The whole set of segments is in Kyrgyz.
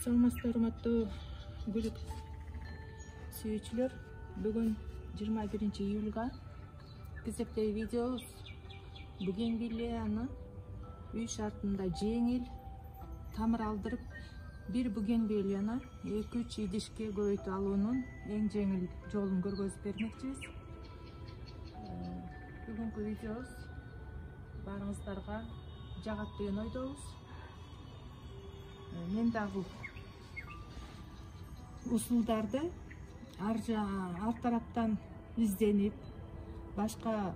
Саламатсызбы, урматтуу гүлүк сүйүүчүлөр. Бүгүн 21 июлга кезектеги видеобуз бугенвиллияны үй шартында жеңил тамыр алдырып, бир бугенвиллияны 2-3 идишке көбөйтүп алуунун эң жеңил жолун көргөзүп бермекчибиз. Бүгүнкү видеобуз баарыңыздарга жагат деген ойдобуз. Мен дагы усулдарды ар тараптан изденип, башка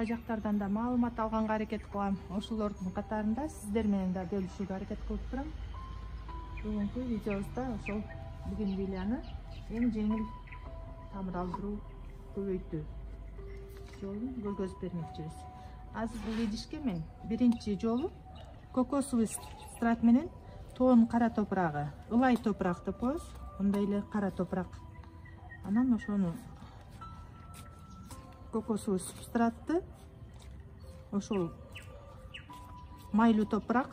жактардан да маалымат алганга аракет кылам. Ошолордун катарында сиздер менен да бөлүшүүгө аракет кылып турам. Бүгүнкү видеобузда ошол бугенвиллияны эң жеңил тамыр алдыруу, көбөйтүү жолун көргөзүп бермекчибиз. Азыр бул идишке мен биринчи жолу кокосовый субстрат менен тоон кара топурагы, ылай топурак деп коебуз, мындай эле кара топурак. Анан ошону кокосовый субстратты ошол майлуу топурак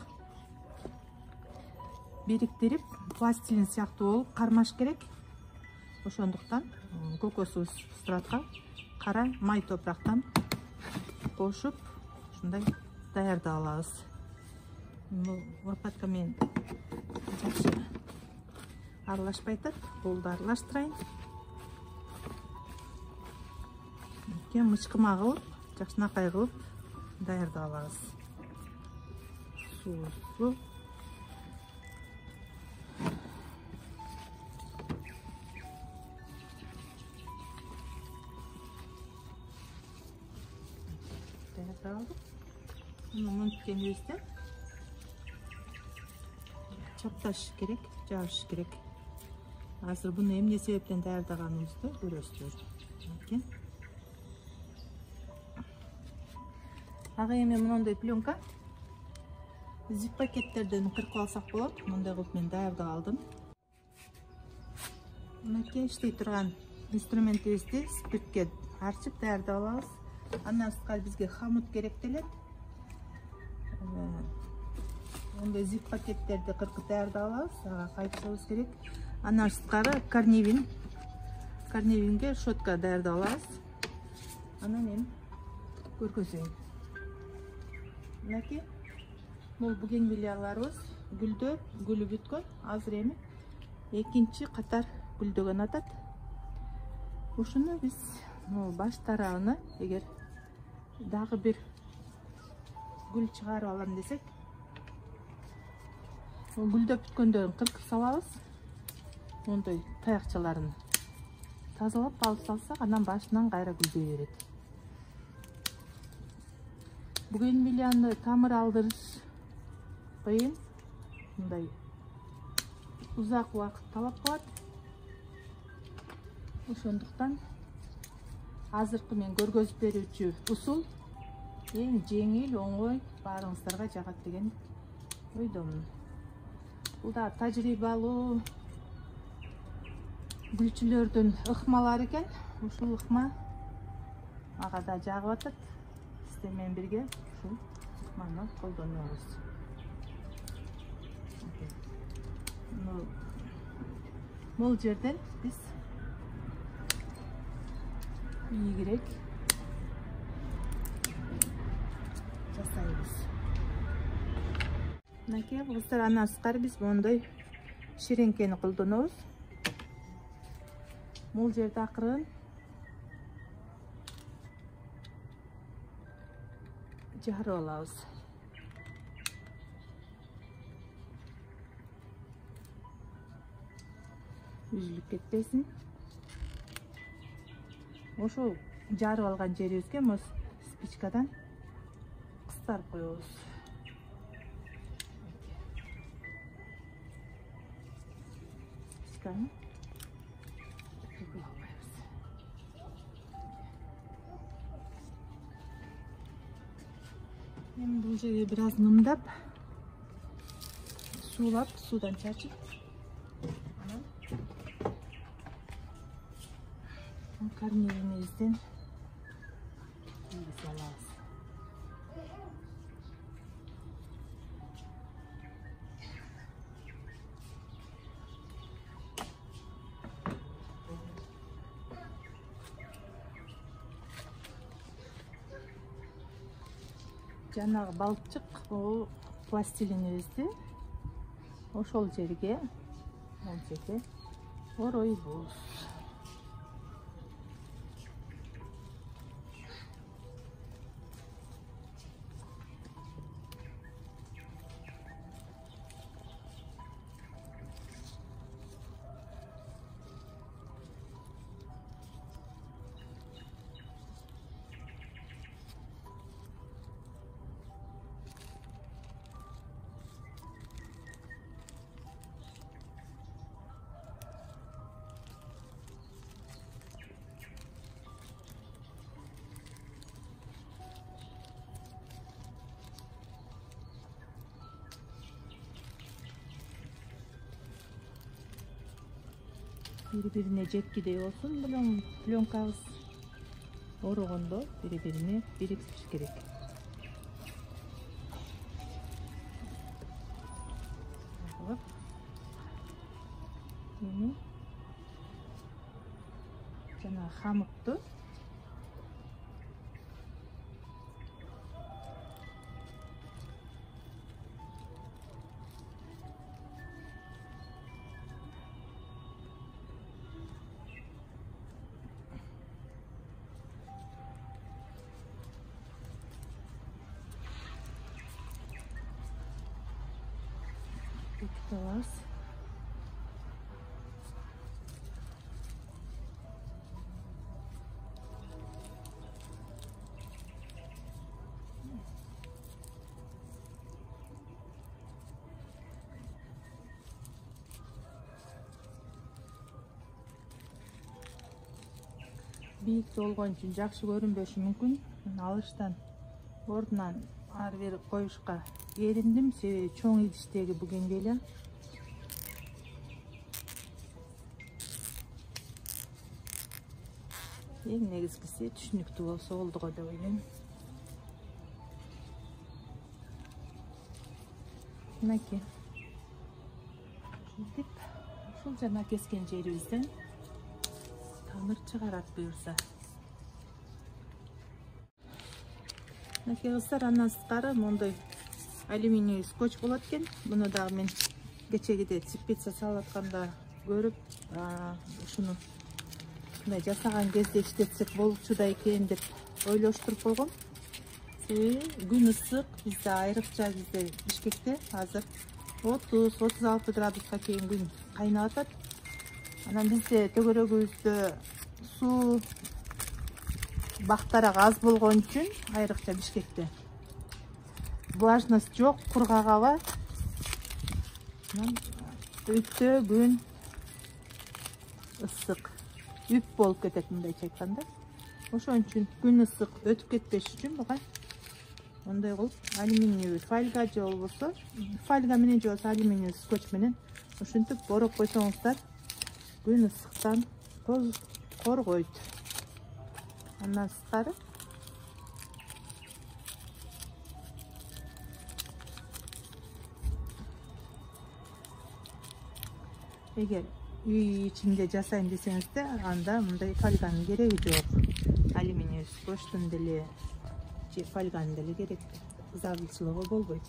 бириктирип, пластилин сыяктуу болуп кармаш керек. Ошондуктан кокосовый субстратка кара май топурактан кошуп, ушундай даярдап алабыз. Бул лопатка менен жакшы аралашпай атат, болду аралаштырайын. Мычкыма кылып, жакшынакай кылып даярдап алабыз. Суусу мынткенибизде чапташ керек, жабыш керек. Азыр буну эмне себептен даярдаганыбызды көрөсүздөр. Ага эми мондой пленка зип пакеттерден кыркып алсак болот. Мындай кылып мен даярдап алдым. Мынакей иштей турган инструментибизди спиртке арчып даярдап алабыз. Андан сырткары бизге хамут керектелет. Мындай зип пакеттерди кыркып даярдап алабыз. Ага кайтышыбыз керек. Андан сырткары карневинге шотка даярдап алабыз. Анан эми көргөзөйүн. Мынакей бул бугенвиллияларыбыз гүлүп бүткөн. Азыр эми экинчи катар гүлдөгөн атат. Ушуну биз баш тарабыны эгер дагы бир гүл чыгарып алам десек, гүлдөп бүткөндөрүн кыркып салабыз. Мондай таякчаларын тазалап алып салсак, анан башынан кайра гүлдөй берет. Бугенвиллияны тамыр алдырыш кыйын, мындай узак убакыт талап кылат. Ошондуктан азыркы мен көргөзүп берүүчү усул эң жеңил, оңой, баарыңыздарга жагат деген ойдомун. Бул да тажрыйбалуу гүлчүлөрдүн ыкмалары экен. Ушул ыкма ага да жагып атат. Сиздер менен бирге ушул ыкманы колдонобуз. Бул жерден биз ийгирээк жасайбыз. Мынакей кыздар, андан сырткары биз мондой ширеңкени колдонобуз. Бул жерде акырын жарып алабыз. Үзүлүп кетпесин. Ошол жарып алган жерибизге моз спичкадан кыстарып коебуз. Спичканы кыйгып албайбыз. Эми бул жерге бир аз нымдап, суулап, суудан чачып, анан карневимизден кийгизе алабыз. жанагы балчык пластилинибизди ошол жерге оройбуз. Бири-бирине жеткидей болсун менен пленкабыз орогондо бири-бирине бириктириш керек. Эми жана хамыкту бекитебиз. Бийик болгон үчүн жакшы көрүнбөшү мүмкүн. Алыштан ордунан ары бери коюшка эриндим, себеби чоң идиштеги бүгүнгө эле. Эң негизгиси түшүнүктүү болсо болду го деп ойлойм. Мынакей. Ушул жана кескен жерибизден тамыр чыгарат буюрса. Мынакей кыздар, андан сырткары мондой алюминий скотч болот экен. Муну дагы мен кечегиде теплица салып атканда көрүп, ушуну мындай жасаган кезде иштетсек болчу да экен деп ойлоштуруп койгом. Себеби күн ысык, бизде айрыкча бизде Бишкекте азыр 30-36 градуска чейин күн кайнап атат. Анан бизде төгөрөгүбүздө суу бактарак аз болгон үчүн, айрыкча Бишкекте влажность жок, кургак аба. Өтө күн ысык, үп болуп кетет мындайча айтканда. Ошон үчүн күн ысык өтүп кетпеш үчүн буга мындай кылып алюминий фольга же болбосо фольга менен же болбосо алюминий скотч менен ушинтип ороп койсоңуздар күн ысыктан коргойт. Андан сырткары эгер үй ичинде жасайм десеңизде, анда мындай фольганын кереги жок. Алюминий скотчтун деле же фольганын деле керек зарылчылыгы болбойт.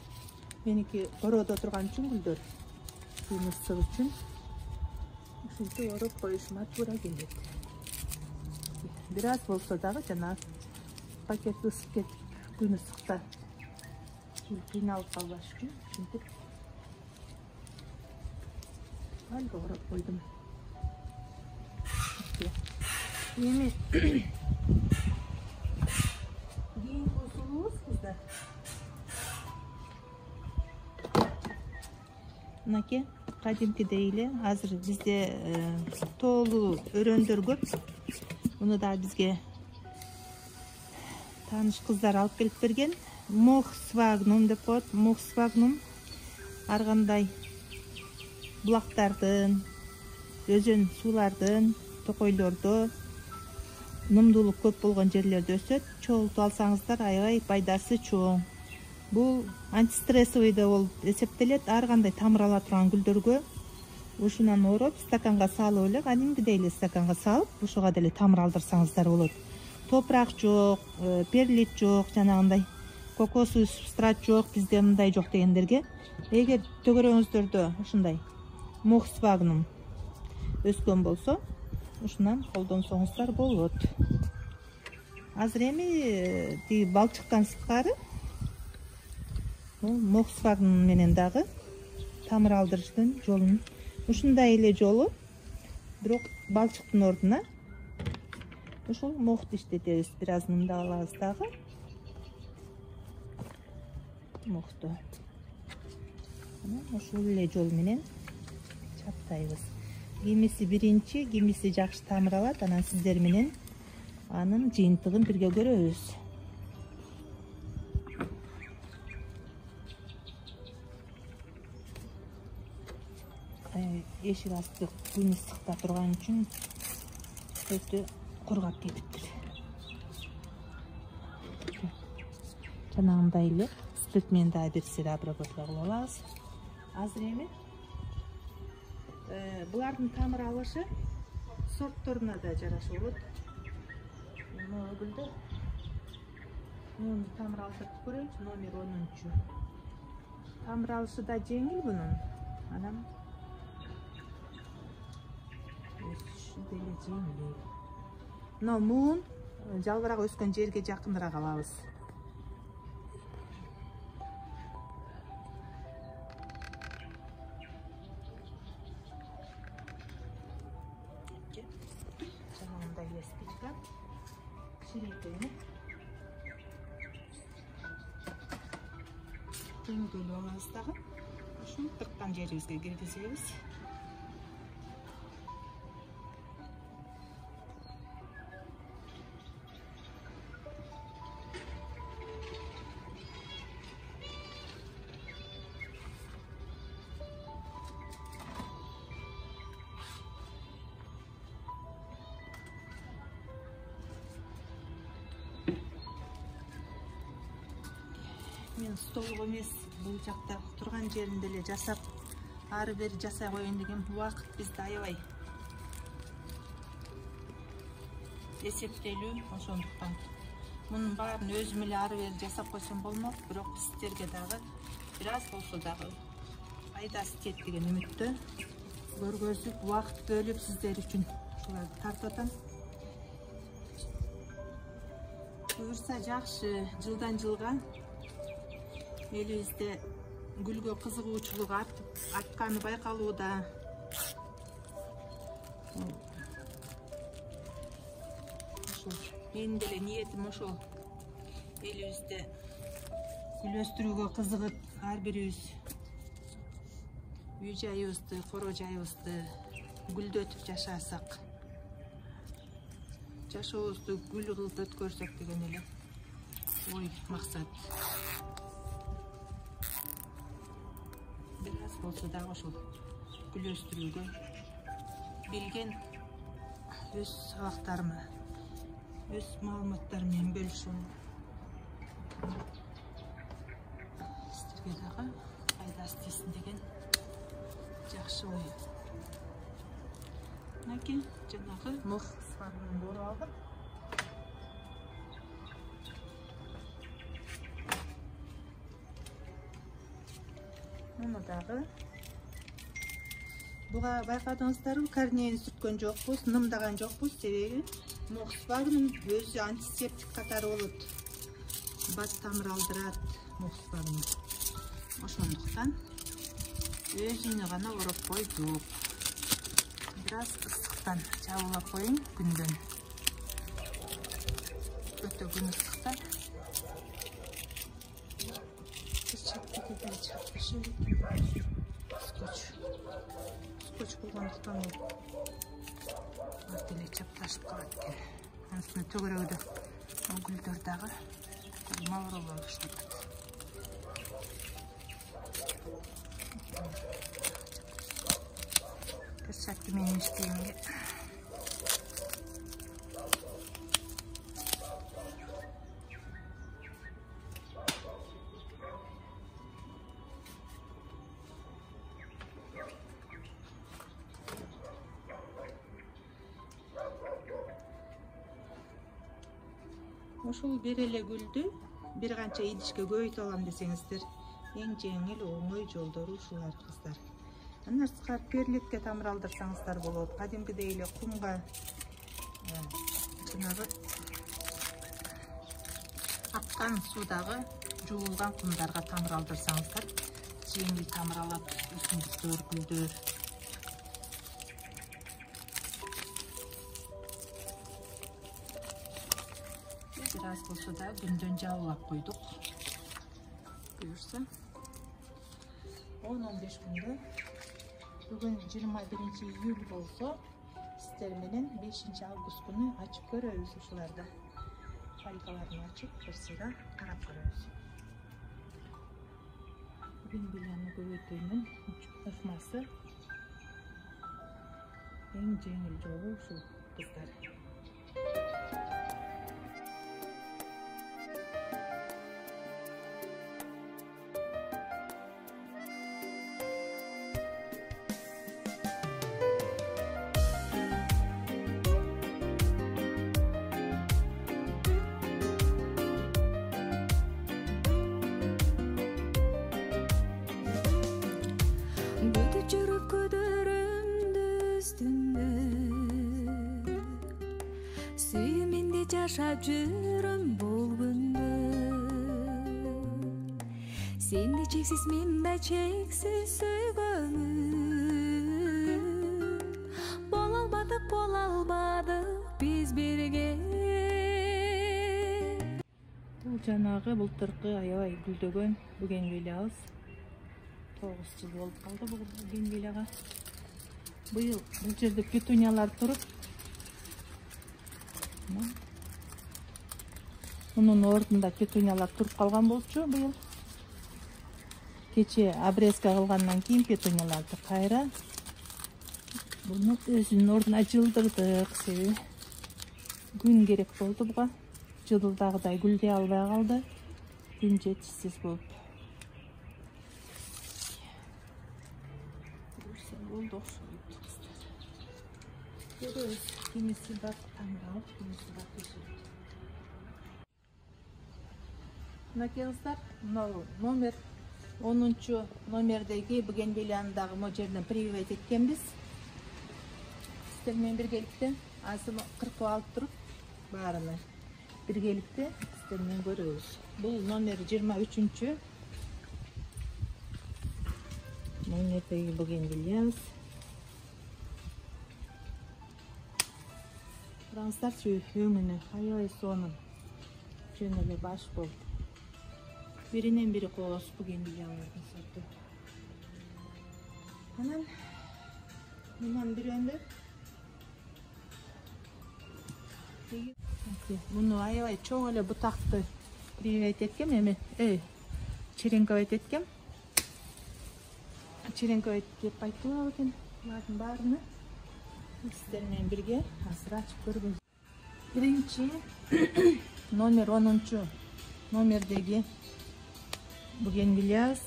Меники короодо турган үчүн гүлдөр күн ысык үчүн ушинтип ороп коюшума туура келет. Бир аз болсо дагы жана пакет ысып кетип күн ысыкта кыйналып калбаш үчүн ушинтип фольга ороп койдум. Эми кийинки усулубуз кыздар. Мынакей кадимкидей эле азыр бизде тоолуу өрөндөр көп. Муну да бизге тааныш кыздар алып келип берген. Мох свагнум деп коет. Мох свагнум ар кандай булактардын, өзөн суулардын, токойлордо нумдуулук көп болгон жерлерде өсөт. Чогултуп алсаңыздар аябай пайдасы чоң. Бул антистрессовый да болуп эсептелет. Ар кандай тамыр ала турган гүлдөргө ушунан ороп стаканга салып эле, кадимкидей эле стаканга салып, ушуга деле тамыр алдырсаңыздар болот. Топурак жок, перлит жок, жанагындай кокосовый субстрат жок, бизде мындай жок дегендерге, эгер төгөрөңүздөрдө ушундай мохсвагнум өскөн болсо, ушунан колдонсоңуздар болот. Азыр эми тиги балчыктан сырткары мохсвагнум менен дагы тамыр алдырыштын жолун ушундай эле жолу, бирок балчыктын ордуна ушул мохту иштетебиз. Бир аз мындап алабыз дагы мохту. Ушул эле жол менен чаптайбыз. Кимиси биринчи, кимиси жакшы тамыр алат. Анан сиздер менен анын жыйынтыгын бирге көрөбүз. Эшик асты күн ысыкта турган үчүн өтө кургап кетиптир. Жанагындай эле спирт менен дагы бир сыйра обработка кылып алабыз. Азыр эми булардын тамыр алышы сортторуна да жараша болот. Гүлдө муну тамыр алдырып көрөйүнчү, номер 10. Тамыр алышы да жеңил бунун. Анан деле жеңил. Мына муун жалбырак өскөн жерге жакыныраак алабыз. Жанагындай эле спичка кичирейтени теңдөлүп алабыз дагы. Ушуну тырткан жерибизге киргизебиз. Мен столго эмес, бул жакта турган жеринде эле жасап, ары бери жасай коеюн деген убакыт бизде аябай эсептелүү. Ошондуктан мунун баарын өзүм эле ары бери жасап койсом болмок, бирок сиздерге дагы бир аз болсо дагы пайдасы тиет деген үмүттө көргөзүп, убакыт бөлүп сиздер үчүн ушуларды тартып атам. Буюрса жакшы, жылдан жылга элибизде гүлгө кызыгуучулук артканы байкалууда. Ошол менин деле ниетим ошол. Элибизде гүл өстүрүүгө кызыгып, ар бирибиз үй жайыбызды, коро жайыбызды гүлдөтүп жашасак, жашообузду гүл кылып өткөрсөк деген эле ой, максат. Бир аз болсо дагы ошол гүл өстүрүүгө билген өз сабактарымы, өз маалыматтарым менен бөлүшөм. Сиздерге дагы пайдасы тийсин деген жакшы ой. Мынакей жанагы мохсвагнумду оруп алдык. Муну дагы буга байкадыңыздарбы, корнейин сүрткөн жокпуз, нымдаган жокпуз. Себеби мохсвагнум өзү антисептик катары болот. Бат тамыр алдырат мохсвагнум. Ошондуктан өзүнө гана ороп койдук. Бир аз ысыктан жабылап коеюн күндөн. Өтө күн ысыкта. Скотч болгондуктан ат эле чапташып калат экен. Анысына төгөрөгүдө гүлдөр дагы мавролуп баштайт. Перчатка менен иштегенге ошол бир эле гүлдү бир канча идишке көбөйтүп алам десеңиздер, эң жеңил оңой жолдору ушулар кыздар. Андан сырткары перлетке тамыралдырсаңыздар болот. Кадимкидей эле кумга жанагы аккан суудагы жуулган кумдарга тамыралдырсаңыздар жеңил тамыралат өсүмдүктөр, гүлдөр. Бир аз болсо да күндөн жабылап койдук. Буюрса 10-15 күндө, бүгүн 21 июль болсо, сиздер менен 5 август күнү ачып көрөбүз ушуларды. Фалькаларын ачып, бир сыйра карап көрөбүз. Бугенвилияны көбөйтүүнүн ыкмасы эң жеңил жолу ушул кыздар. Сүйүмүндө жашап жүрөм бул күндө. Сенди чексиз мен да чексиз сөйгөнмүн. Боло албадык биз бирге. Бул жанагы былтыркы аябай гүлдөгөн бугенвилиябыз. 9 жыл болуп калды бул бугенвилияга. Быйыл бул жерде петуниялар туруп, мунун ордунда петуниялар туруп калган болчу быйыл. Кече обрезка кылгандан кийин петунияларды кайра буну өзүнүн ордуна жылдырдык. Себеби күн керек болду буга. Жылдагыдай гүлдөй албай калды. Күн жетишсиз болуп. Болду окшойт. Көрөбүз. Кимиси бар таңдалып, кимиси бар түшүрүп. Мынакей кыздар, номер 10 номердеги бугенвилияны дагы мо жерден прививать эткенбиз. Сиздер менен биргеликте азыр кыркып алып туруп, баарыны биргеликте сиздер менен көрөбүз. Бул номер 23 номердеги бугенвилиябыз. Караңыздарчы, өңүнү аябай сонун, жөн эле баш болуп. Биринен бири кооз бугенвилиялардын сорту. Анан мындан бирөөндө муну аябай чоң эле бутакты прививать эткем, эми черенковать эткем. Черенковать деп айтылат экен. Булардын баарыны сиздер менен бирге азыр ачып көргүз. Биринчи номер 10 номердеги бугенвилиябыз.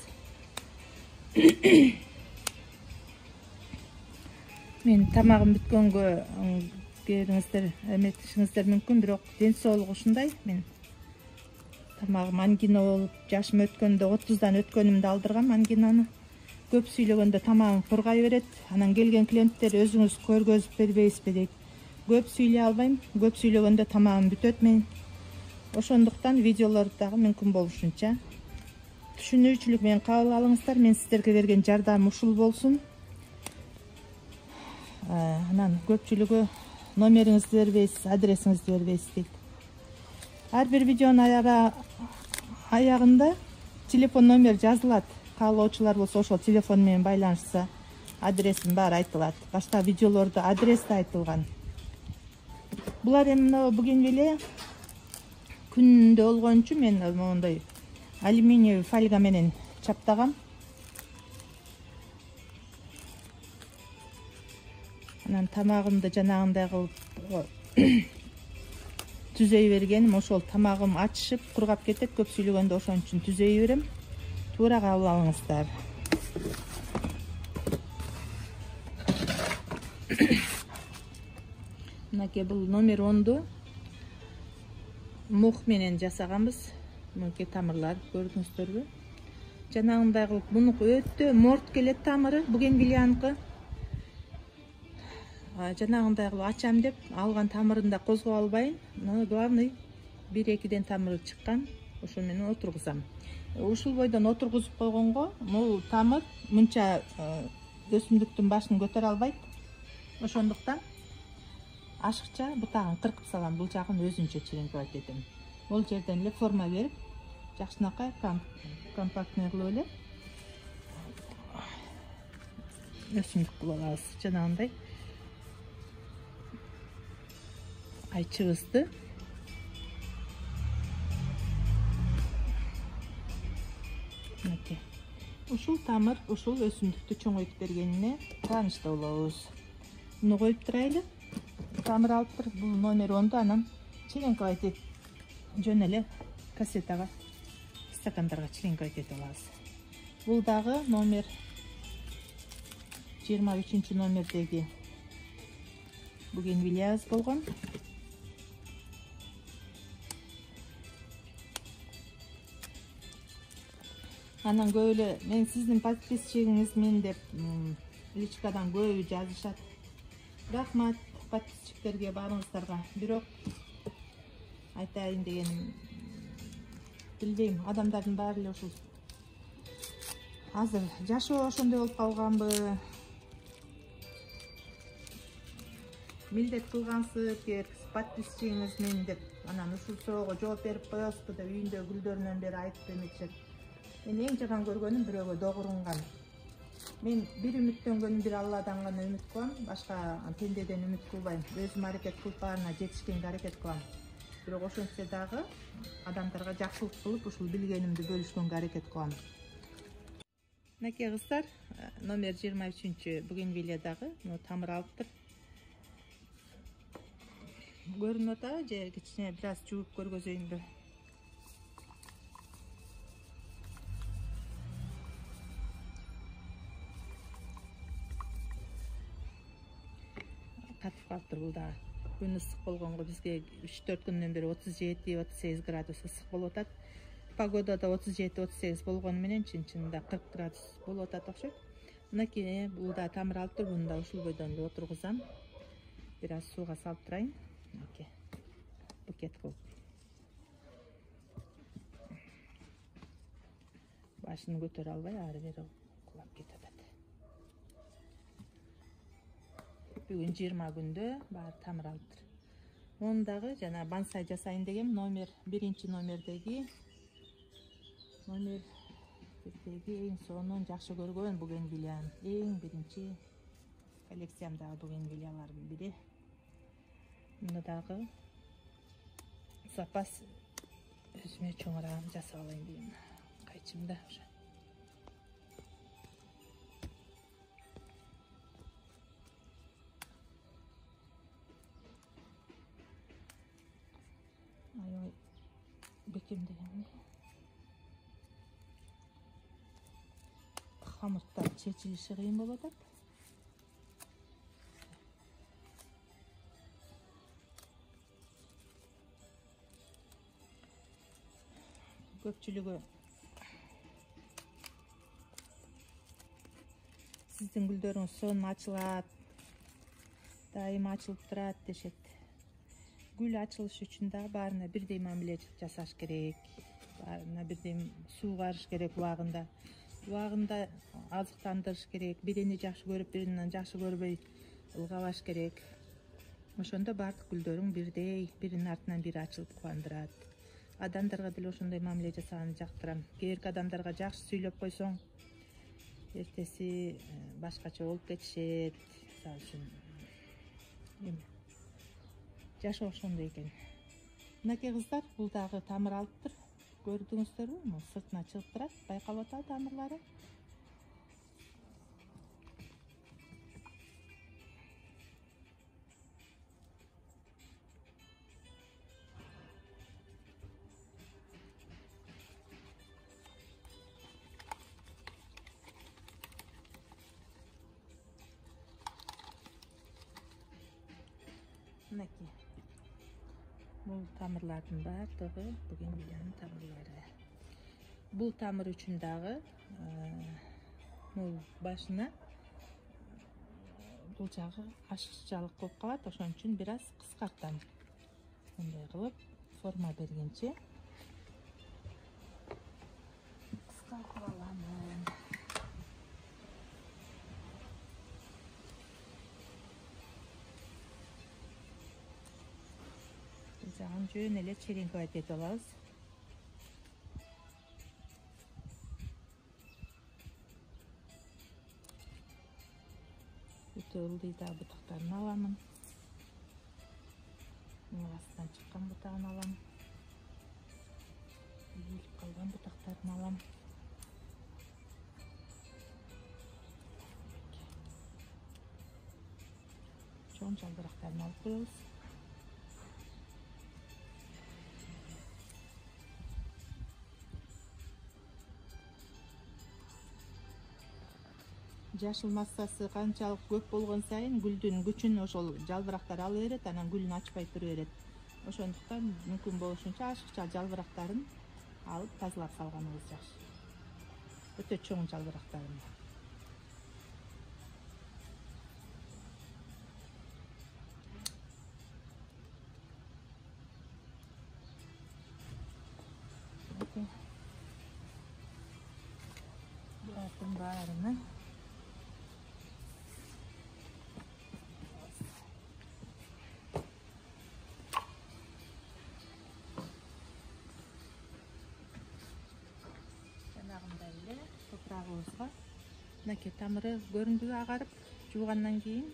Мен тамагым бүткөнгө бериңиздер, эметишиңиздер мүмкүн, бирок ден соолугу ушундай. Мен тамагым ангина болуп, жашым өткөндө 30дан өткөнүмдө алдыргам ангинаны. Көп сүйлөгөндө тамагым кургай берет. Анан келген клиенттер өзүңүз көргөзүп бербейсизби дейт. Көп сүйлөй албайм. Көп сүйлөгөндө тамагым бүтөт мен. Ошондуктан видеолорду дагы мүмкүн болушунча түшүнүүчүлүк менен кабыл алыңыздар. Мен сиздерге берген жардамым ушул болсун. Анан көпчүлүгү номериңизди бербейсиз, адресиңизди бербейсиз дейт. Ар бир видеонун аягында телефон номер жазылат. Каалоочулар болсо ошол телефон менен байланышса, адресин баары айтылат. Башка видеолордо адрес да айтылган. Булар эми бугенвилия күндө болгон үчүн мен моундай алюминиевый фольга менен чаптагам. Анан тамагымды жанагындай кылып түзөй бергеним, ошол тамагым ачышып, кургап кетет. Көп сүйлөгөндө ошон үчүн түзөй берем. Туура кабыл алыңыздар. Мынакей бул номер 10ду мух менен жасаганбыз. мынки тамырлар көрдүңүздөрбү? Жанагындай кылып мунуку өтө морт келет тамыры, бугенвилияныкы. Жанагындай кылып ачам деп алган тамырында козгоп албайын. Главный 1-2ден тамыры чыккан. Ошол менен отургузам. Ушул бойдон отургузуп койгонго бул тамыр мынча өсүмдүктүн башын көтөрө албайт. Ошондуктан ашыкча бутагын кыркып салам, бул жагын өзүнчө чилеңкебайт этем. Бул жерден эле форма берип, жакшынакай компактный кылып эле өсүмдүк кылып алабыз. Жанагындай айчыбызды ушул тамыр ушул өсүмдүктү чоңойтуп бергенине кубанычта болобуз. Муну коюп турайлы. Тамыр алып туруп, бул номер 10-ду, анан чилеңкебайт этип жөн эле кассетага, стакандарга чилеңкебайт этип алабыз. Бул дагы номер 23 номердеги бугенвилиябыз болгон. Анан көп эле мен сиздин подписчигиңизмин деп личкадан көбү жазышат. Рахмат подписчиктерге баарыңыздарга. Бирок айтайын дегеним, билбейм, адамдардын баары эле ушул азыр жашоо ошондой болуп калганбы? Милдет кылгансып, подписчигиңизмин деп анан ушул соого жооп берип коесузбу деп үйүндө гүлдөрүнөн бери айтып эмечет. Мен эң жаман көргөнүм бирөөгө догурунган. Мен бир үмүттөнгөнүм, бир Алладан гана үмүт кылам, башка пендеден үмүт кылбайм. Өзүм аракет кылып баарына жетишкенге аракет кылам. Бирок ошентсе дагы адамдарга жакшылык кылып, ушул билгенимди бөлүшкөнгө аракет кылам. Мынакей кыздар, номер 23 бугенвилиядагы тамыр алыптыр. Көрүнүп атабы же кичине бир аз жууп көргөзөйүнбү? Катып калыптыр бул дагы. Күн ысык болгонго бизге 3-4 күндөн бери 37-38 градус ысык болуп атат. Погодада 37-38 болгону менен чын-чынында 40 градус болуп атат окшойт. Мынакей бул да тамыр алып тур, буну да ушул бойдон эле отургузам. Бир аз сууга салып турайын. Мынакей букет кылып. Башын көтөрө албай ары бери кулап кетип атат. Бүгүн 20 күндө баары тамыр алыптыр. Муну дагы жана бонсай жасайын дегем, номер 1 номердеги эң сонун жакшы көргөн бугенвилиям, эң биринчи коллекциямдагы бугенвилиялардын бири. Муну дагы запас өзүмө чоңураак жасап алайын дейм. Кайчымда уже. Аябай бекемдеген. Хамырттар чечилиши кыйын болуп атат. Көпчүлүгү сиздин гүлдөрүңүз сонун ачылат, дайыма ачылып турат дешет. Гүл ачылышы үчүн да баарына бирдей мамиле жасаш керек. Баарына бирдей суу карыш керек убагында. Убагында азыктандырыш керек. Бирини жакшы көрүп, биринен жакшы көрбөй ылгабаш керек. Ошондо баардык гүлдөрүң бирдей, биринин артынан бири ачылып кубандырат. Адамдарга деле ошондой мамиле жасаганды жактырам. Кээ бирки адамдарга жакшы сүйлөп койсоң, эртеси башкача болуп кетишет. Мисалы үчүн жашоо ошондой экен. Мынакей кыздар, бул дагы тамыр алыптыр. Көрдүңүздөрбү? Сыртына чыгып турат, байкалып атабы тамырлары? Мынакей. Бул тамырлардын баардыгы бугенвилиянын тамырлары. Бул тамыр үчүн дагы мул башына бул жагы ашыкчалык болуп калат. Ошон үчүн бир аз кыскартам. Мындай кылып форма бергенче кыскартып алам. Бул жагын жөн эле черенковать этип алабыз. Өтө ылдый да бутактарын аламын. Астынан чыккан бутагын алам. Ийилип калган бутактарын алам. Чоң жалбырактарын алып коебуз. Жашыл массасы канчалык көп болгон сайын гүлдүн күчүн ошол жалбырактар ала берет, анан гүлүн ачпай тура берет. Ошондуктан мүмкүн болушунча ашыкча жалбырактарын алып тазалап салганыбыз жакшы. Өтө чоң жалбырактарын. Булардын баарына жанагындай эле топурагыбызга мынакей тамыры көрүндүбү агарып жуугандан кийин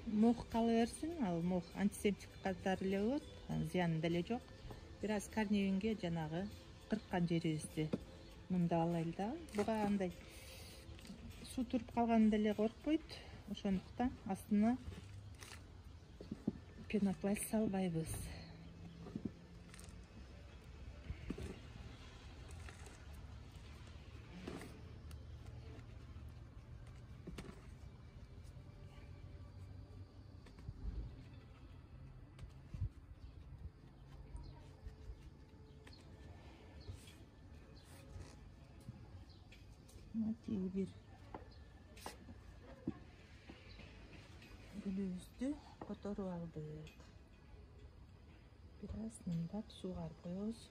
мох кала берсин. Ал мох антисептик катары эле болот, зыяны деле жок. Бир аз корневинге жанагы кырккан жерибизди мындап алайлы да. Буга андай суу туруп калган деле коркпойт. Ошондуктан астына пенопласт салбайбыз. Тиги бир гүлүбүздү которуп алдык. Бир аз мындап суугарып коебуз.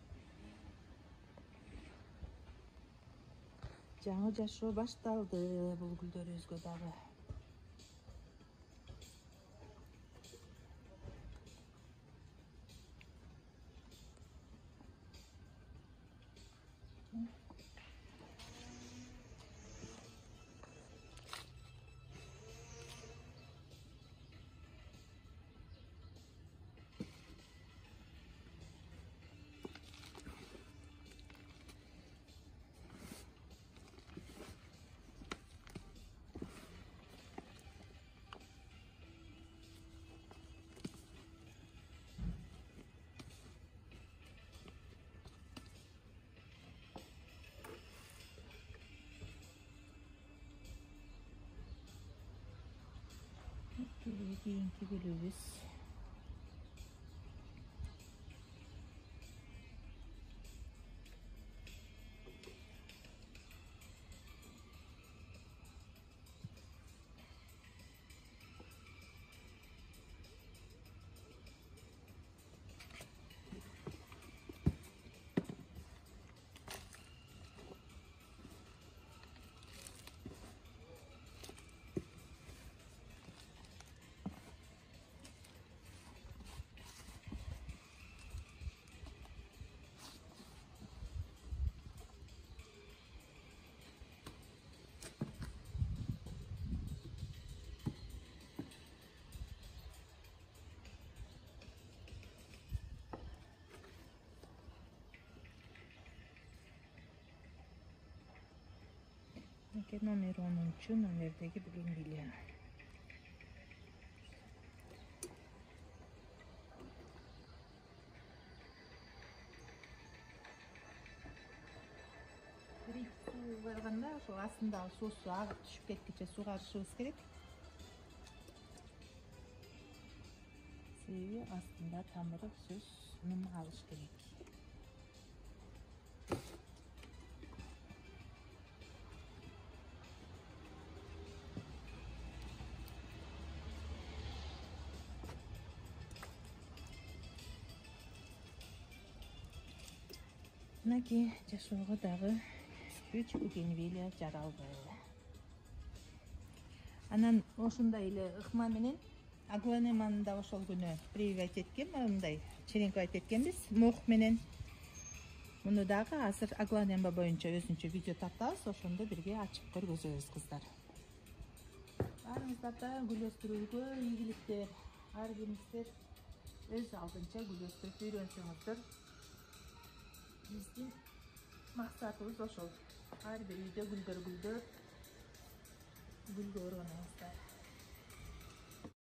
Жаңы жашоо башталды бул гүлдөрүбүзгө дагы. Keyinki gülübüz. Номер 10 номердеги бугенвилия. Суу койганда ошол астындагы суусу агып түшүп кеткиче суугарышыбыз керек. себеби астында тамыры сөз нум алыш керек. Мынакей жашоого дагы 3 бугенвилия жаралды. Анан ошондой эле ыкма менен аглонеманы да ошол күнү прививать эткен, мындай черенковать эткенбиз мох менен. Муну дагы азыр аглонема боюнча өзүнчө видео тартабыз, ошондо бирге ачып көргөзөбүз кыздар. Баарыңыздарда гүл өстүрүүгө ийгиликтер. Ар бириңиздер өз алдынча гүл өстүрүп үйрөнсөңүздөр. Биздин максатыбыз ошол. Ар бир үйдө гүлдөр гүлгө оронуңуздар.